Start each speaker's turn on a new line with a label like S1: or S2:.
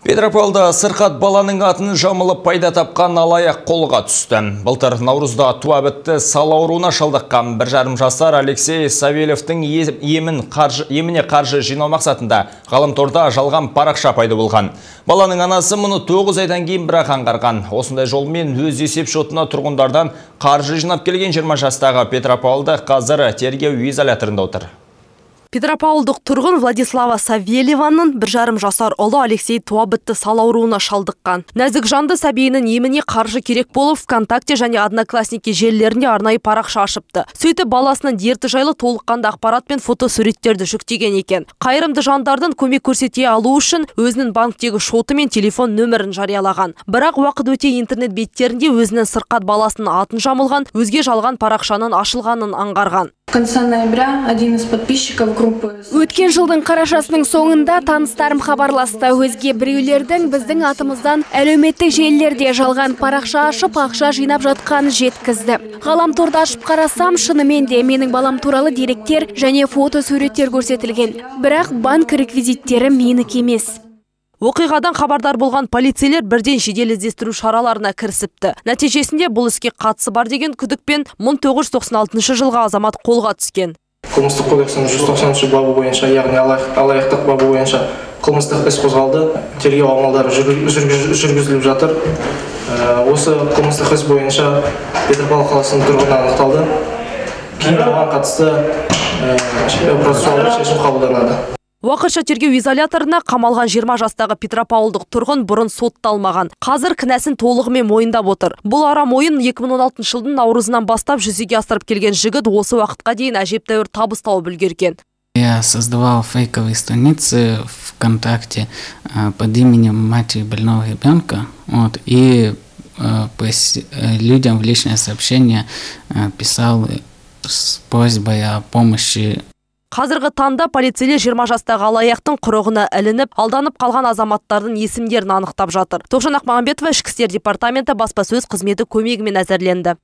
S1: Петропавлда сырқат баланың атын жамылып пайда тапқан алаяқ қолға түсті. Былтыр наурызда туа бітті сал ауруына шалдыққан 1,5 жасар Алексей Савельевтің еміне қаржы жинау мақсатында ғаламторда жалған парақша пайда болған. Баланың анасы мұны 9 айдан кейін бірақ аңғарған. Осындай жолмен өз есеп шотына тұрғындардан қаржы жинап келген 20 жастағы Петропавлда қазір тергеу изоляторында отыр.
S2: Петропавлдық тұрғын Владислава Савельеваның 1,5 жасар ұлы Алексей туа бітті сал ауруына шалдыққан. Нәзік жанды сәбиінің еміне қаржы керек болып, ВКонтакте және Одноклассники желілерінде арнайы парақша ашыпты. Сөйтіп баласының дерті жайлы толыққанды ақпарат пен фотосуреттерді жүктеген екен. Қайырымды жандардың көмек көрсете алу үшін өзінің банктегі шоты мен телефон нөмірін жариялаған. Бірақ уақыт өте интернет беттерінде өзінің сырқат баласының атын жамылған, өзге жалған парақшаның ашылғанын аңғарған.
S3: В конце ноября один из подписчиков группы...
S4: Өткен жылдың қарашасының соңында таныстарым хабарласты. Өзге біреулердің біздің атымыздан әлеуметтік желілерде жалған парақша ашып, ақша жинап жатқанын жеткізді. Ғаламторды ашып қарасам, шынымен де менің балам туралы деректер және фото суреттер көрсетілген. Бірақ банк реквизиттері менікі емес.
S2: Оқиғадан хабардар болған полицейлер бірден жедел іздестіру шараларына кірісіпті. Нәтижесінде бұл іске қатысы бар деген күдікпен 1996 жылғы азамат қолға түскен.
S5: Қылмыстық кодексінің 190 бабы бойынша, яғни алаяқтық бабы бойынша қылмыстық іс қозғалды. Тергеу амалдары жүргізіліп жатыр. Осы қылмыстық іс бойынша Петропавл қаласының тұрғыны анықталды. Кейін оған қатысты процессуалдық шешім қабылданады.
S2: Уақытша тергеу изоляторына қамалған 20 жастағы Петропавлдық тұрғын бұрын сотталмаған. Қазір кінәсін толығымен мойындап отыр. Бұл арам ойын 2016 жылдың наурызынан бастап жүзеге асырып келген жігіт осы уақытқа дейін әжептәуір табыс тауып үлгерген.
S6: Я создавал фейковые страницы ВКонтакте под именем матери больного ребенка. И людям в личное сообщение писал с просьбой о помощи.
S2: Қазіргі таңда полицейлер 20 жастағы алаяқтың құрығына ілініп, алданып қалған азаматтардың есімдерін анықтап жатыр. Тоғжан Ақмағамбетова, Ішкі істер департаменті баспасөз қызметі көмегімен әзірленді.